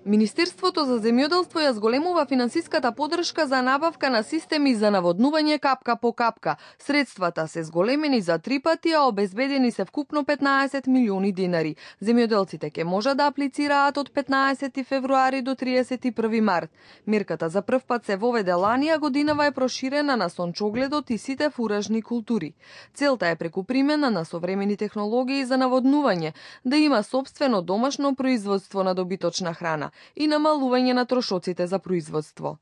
Министерството за земјоделство ја зголемува финансиската поддршка за набавка на системи за наводнување капка по капка. Средствата се зголемени за 3 пати, а обезбедени се вкупно 15 милиони денари. Земјоделците ќе можат да аплицираат од 15 февруари до 31 март. Мерката за прв пат се воведе лани, а годинава е проширена на сончогледот и сите фуражни култури. Целта е преку примена на современи технологии за наводнување да има сопствено домашно производство на добиточна храна и намалување на трошоците за производство.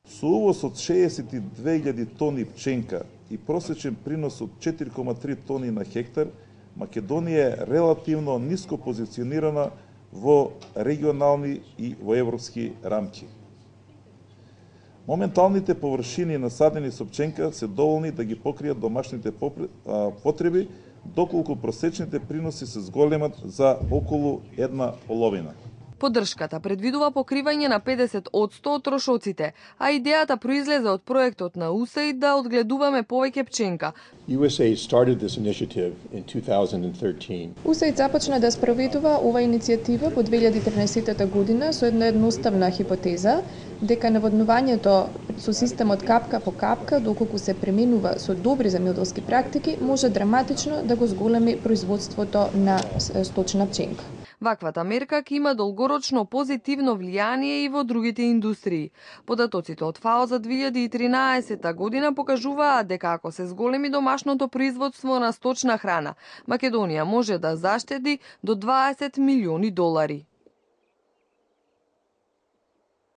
Со увоз од 62.000 тони пченка и просечен принос од 4,3 тони на хектар, Македонија е релативно ниско позиционирана во регионални и во европски рамки. Моменталните површини насадени со пченка се доволни да ги покријат домашните потреби, доколку просечните приноси се зголемат за околу 1/2. Поддршката предвидува покривање на 50% од трошоците, а идејата произлезе од проектот на USAID да одгледуваме повеќе пченка. USAID started this initiative in 2013. USAID започна да спроведува ова иницијатива во 2013 година со една едноставна хипотеза дека наводнувањето со системот капка по капка, доколку се применува со добри земјоделски практики, може драматично да го зголеми производството на сточна пченка. Ваквата мерка ќе има долгорочно позитивно влијание и во другите индустрии. Податоците од ФАО за 2013 година покажуваат дека ако се зголеми домашното производство на сточна храна, Македонија може да заштеди до 20 милиони долари.